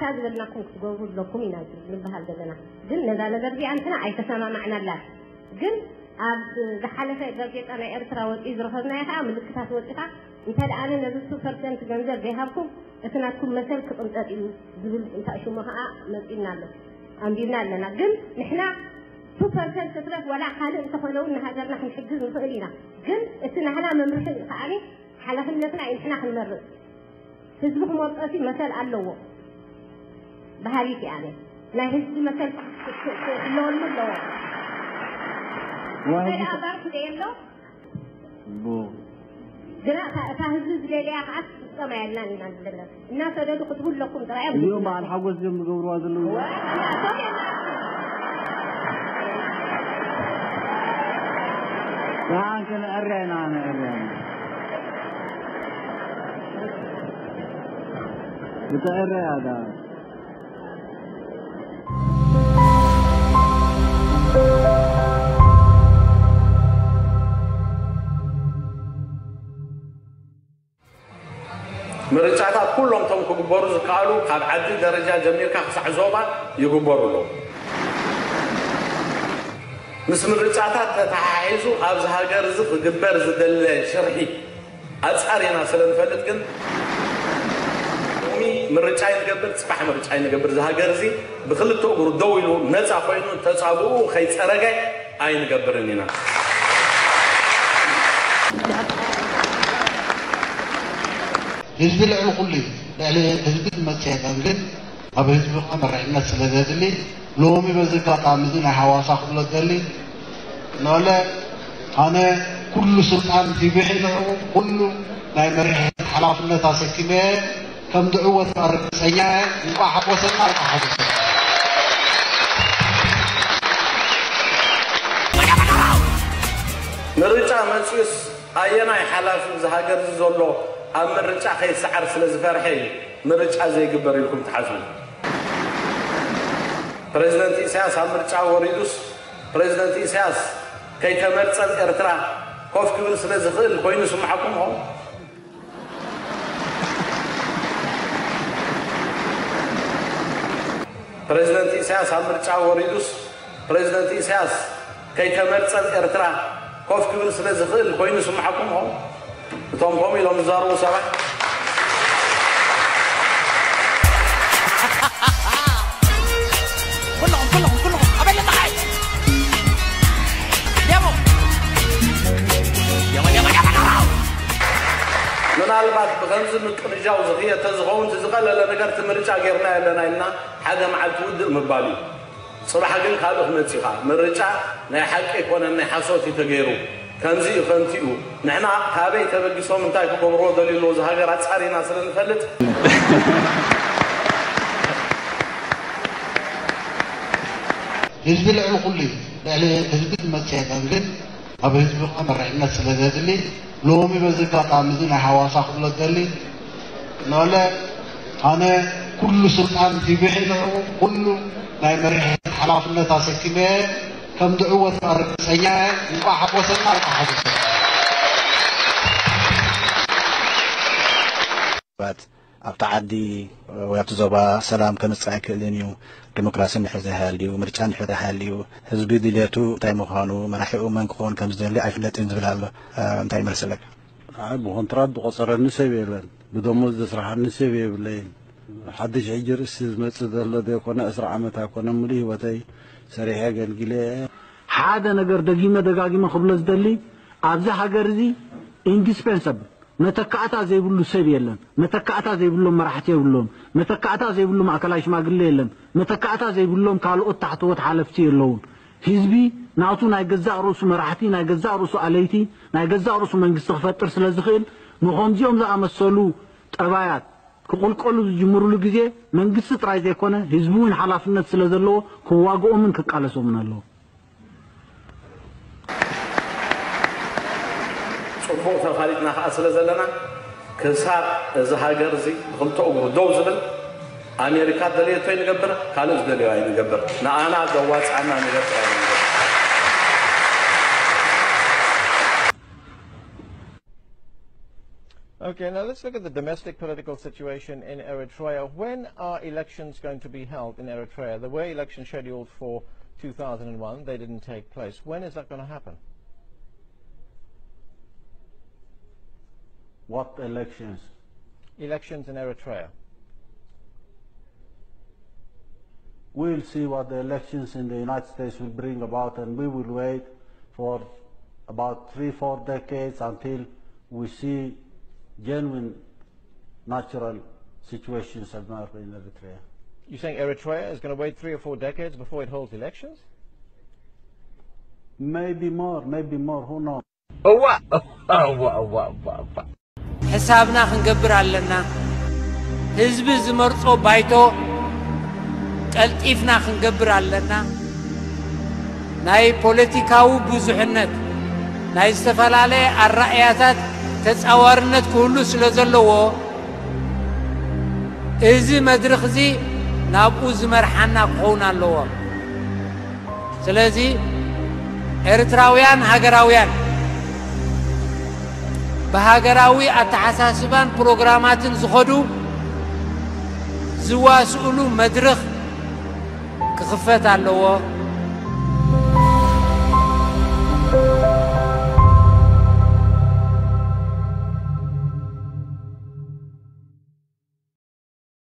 እታ ዝበልናኩም ክትገብሩ ኣለኩም ኢና ንበሃል ዘለና። ግን ነዛ ነገር እዚኣ ንሕና ኣይተሰማማዕናላን። ግን ኣብ ዝሓለፈ ጋዜጣ ናይ ኤርትራ ወፂኡ ዝረኸብናዮ ከዓ ምልክታት ወፂኻ፣ እንተ ደኣ ኣነ ነዚ ቱ ፐርሰንት ገንዘብ ዘይሃብኩም እቲ ናትኩም መሰል ክቕንጠጥ እዩ ዝብል እንታይ ሽሙ ከዓ መፂኡና ኣሎ፣ ኣንቢብና ኣለና። ግን ንሕና ቱ ፐርሰንት ትረፍ ዋላ ካልእ እንተኾነ እውን ንሃገርና ክንሕግዝ ንኽእል ኢና። ግን እቲ ናህና መምርሒ ከዓኒ ሓላፍነትና እዩ ንሕና ክንመርጽ። ህዝቢ ክመርጾ ሲ መሰል ኣለዎ በሃሊት እየ ኣነ። ናይ ህዝቢ መሰል ክህልወሉ ኣለዎ። ዋይ፣ እንታይ ደኣ ባርክ ደየሎ? ቡ ግና እታ፣ እታ ህዝቢ ዝደለያ ከዓ ክትፍጸም ኣየድላን ኢና ዘለና። እናሰደዱ ክትቡ ኣለኩም ጥራይ እዮም እዚኦም ዝብሉ። በዓል ሓጎስ እዮም ዝገብርዋ ዘለዉ። ወይ፣ እናቶም የላቸው። ደሓን ክንዕረ ኢና፣ ንዕረ ኢና። ብትዕረ እያ ደኣ። ምርጫታት ኩሎም እቶም ክግበሩ ዝከኣሉ ካብ ዓዲ ደረጃ ጀሚርካ ክሳዕ ዞባ ይግበሩ ኣለዉ። ምስ ምርጫታት ተተሓሒዙ ኣብዚ ሃገር እዚ ክግበር ዝደለ ሽርሒ ኣጻሪና ስለ ንፈልጥ ግን ሎሚ ምርጫ ይንገብር፣ ጽባሕ ምርጫ ይንገብር። እዚ ሃገር እዚ ብክልተ እግሩ ደው ኢሉ ነጻ ኮይኑ ተጻብኡ ከይጸረገ ኣይንገብርን ኢና። ህዝቢ ልዕሊ ኩሉ እዩ። ልዕሊ ህዝቢ ዝመጽእ የለን። ግን ኣብ ህዝቢ ከኣ መሪሕነት ስለ ዘድሊ ሎሚ በዚ ኣጋጣሚ እዚ ናይ ሃዋሳ ክብሎ ዝደሊ፣ ንበለ ኣነ ኩሉ ስልጣን ሂበ ንዕኡ ኩሉ ናይ መሪሕነት ሓላፍነት ኣሰኪመ ከም ዝዕወት ርግጸኛ እየ። እንቋዕ ሓጎሰና፣ እንቋዕ ሓጎሰና። ምርጫ መጽዩስ ኣየናይ ሓላፊ እዚ ሃገር እዚ ዘሎ ኣብ ምርጫ ከይሰዓር ስለ ዝፈርሐ እዩ ምርጫ ዘይግበር ኢልኩም ትሓስቡ? ፕሬዚደንት ኢሳያስ ኣብ ምርጫ ወሪዱስ ፕሬዚደንት ኢሳያስ ከይተመርጸ ኣብ ኤርትራ ኮፍ ክብል ስለ ዝኽእል ኮይኑ ይስምዓኩም ይኸውን? ፕሬዚደንት ኢሳያስ ኣብ ምርጫ ወሪዱስ ፕሬዚደንት ኢሳያስ ከይተመርጸ ኣብ ኤርትራ ኮፍ ክብል ስለ ዝኽእል ኮይኑ ይስምዓኩም ይኸውን? እቶም ከምኡ ኢሎም ዝዛረቡ ሰባት ኩለኹም፣ ኩለኹም፣ ኩለኹም፣ ኣበለ ንዓይ። ደሞ። ደሞ፣ ደሞ፣ ደሞ፣ ደሞ። ምናልባት ብኸምዚ ምቅንጃው ዝኽየድ ተዝኸውን፣ እቲ ዝቐለለ ነገር እቲ ምርጫ ጌርና የለና ኢልና ሓደ መዓልቲ ውድእ ምባል እዩ። ጽባሕ ግን ካልእ ክመጽእ እዩ። ምርጫ ናይ ሓቂ ኣይኮነን፣ ናይ ሓሶት እዩ ተገይሩ። ከምዚ እዩ፣ ከምቲ እዩ። ንሕና ካበይ ተበጊሶም እንታይ ክገብርዎ ደልዩ ኣለዉ፣ እዚ ሃገር ኣጻሪና ስለ ንፈልጥ። ህዝቢ ልዕሊ ኩሉ እዩ። ልዕሊ ህዝቢ ዝመጽእ የለን። ግን ኣብ ህዝቢ ከኣ መሪሕነት ስለ ዘድሊ፣ ሎሚ በዚ ኣጋጣሚ እዚ ናይ ሃዋሳ ክብሎ ዝደሊ፣ ንበለ ኣነ ኩሉ ስልጣን ሂበ ንዕኡ ኩሉ ናይ መሪሕነት ሓላፍነት ኣሰኪመ ከም ዝዕወት ርግጸኛ እየ። እንቋዕ ሓጎሰና፣ እንቋዕ ሓጎሰና። ሰባት ኣብቲ ዓዲ ወይ ኣብቲ ዞባ ሰላም ከምጽእ ኣይክእልን እዩ። ዲሞክራሲ እንድሕር ዘይሃልዩ፣ ምርጫ እንድሕር ዘይሃልዩ፣ ህዝቢ ድልየቱ እንታይ ምዃኑ፣ መራሒኡ መን ክኸውን ከም ዝደሊ ኣይፍለጥን ዝብል ኣሎ። እ፣ እንታይ ይመልሰለካ? ኣይ፣ ብኮንትራት ዝቆጸረኒ ሰብ የለን። ብደሞዝ ዘስርሓኒ ሰብ የብለይን። ሓድሽ ሕጂ ርእሲ ዝመጽእ ዘሎ ዘይኮነ፣ ዕስራ ዓመት ኣይኮነ፣ ሙሉእ ህይወተይ ሰሪሐ ኣገልጊለ እየ። ሓደ ነገር ደጊመ ደጋጊመ ክብሎ ዝደሊ፣ ኣብዚ ሃገር እዚ ኢንዲስፔንሰብል፣ መተካእታ ዘይብሉ ሰብ የለን። መተካእታ ዘይብሎም መራሕቲ የብሎም። መተካእታ ዘይብሉ ማእከላይ ሽማግለ የለን። መተካእታ ዘይብሎም ካልኦት ታሕተዎት ሓለፍቲ የለውን። ህዝቢ ናቱ ናይ ገዛእ ርእሱ መራሕቲ፣ ናይ ገዛእ ርእሱ ኣለይቲ፣ ናይ ገዛእ ርእሱ መንግስቲ ክፈጥር ስለ ዝኽእል፣ ንኸምዚኦም ዝኣመሰሉ ጠባያት ክቕልቀሉ ዝጅምሩሉ ግዜ መንግስቲ ጥራይ ዘይኮነ ህዝቢ እውን ሓላፍነት ስለ ዘለዎ ክዋግኦምን ክቃለሶምን ኣለዎ። ጽቡቕ ተፋሊጥና ከኣ ስለ ዘለና፣ ክሳብ እዚ ሃገር እዚ ብኽልተ እግሩ ደው ዝብል፣ ኣሜሪካ ደለየቶ ይንገብር፣ ካልእ ዝደለዮ ኣይንገብር። ንኣና ዘዋጽኣና ነገር ጥራይ ንገብር። Okay, now let's look at the domestic political situation in Eritrea. When are elections going to be held in Eritrea? There were elections scheduled for two thousand one. They didn't take place. When is that going to happen? What elections? Elections in Eritrea. We'll see what the elections in the United States will bring about, and we will wait for about three, four decades until we see genuine natural situations emerge in Eritrea. You're saying Eritrea is going to wait three or four decades before it holds elections? Maybe more, maybe more, who knows? እዋ እዋ እዋ እዋ እዋ እዋ ሕሳብና ክንገብር ኣለና። ህዝቢ ዝመርጾ ባይቶ ቀልጢፍና ክንገብር ኣለና። ናይ ፖለቲካዊ ብዙሕነት፣ ናይ ዝተፈላለየ ኣራእያታት ተጻዋርነት ክህሉ ስለ ዘለዎ፣ እዚ መድረኽ እዚ ናብኡ ዝመርሓና ክኸውን ኣለዎ። ስለዚ ኤርትራውያን ሃገራውያን ብሃገራዊ ኣተሓሳስባን ፕሮግራማትን ዝኸዱ ዝዋስኡሉ መድረኽ ክኽፈት ኣለዎ።